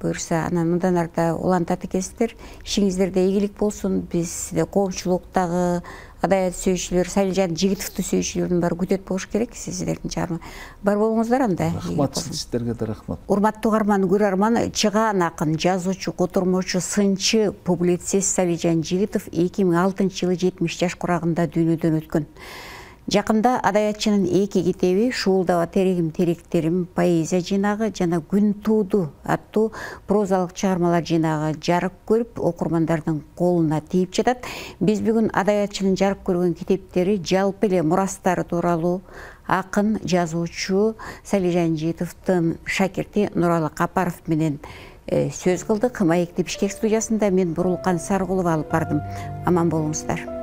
Буюрса анан мындан арта улантат экенсиздер, ишиңиздерде ийгилик болсун. Бизде коомчулуктагы адабият сүйүүчүлөр, Салижан Жигитовду сүйүүчүлөрдүн баары күтөт болуш керек сиздердин чыгарма. Бар болуңуздар анда. Рахмат сиздерге да рахмат. Урматтуу угарман, көрөрман, чыгаан акын, жазуучу, котормочу, сынчы, публицист Салижан Жигитов эки миң алтынчы жылы жетимиш жаш курагында дүйнөдөн өткөн. Жакында адабиятчынын эки китеби Шуулдаба терегим теректерим поэзия жыйнагы жана Күн тууду аттуу прозалык чыгармалар жыйнагы жарык көрүп, окурмандардын колуна тийип жатат. Биз бүгүн адабиятчынын жарык көргөн китептери, жалпы эле мурастары тууралуу акын, жазуучу Салижан Жигитовдун шакирти Нуралы Капаров менен сөз кылдык. Маекти Бишкек студиясында мен Бурулкан Саркулова алып бардым. Аман болуңуздар.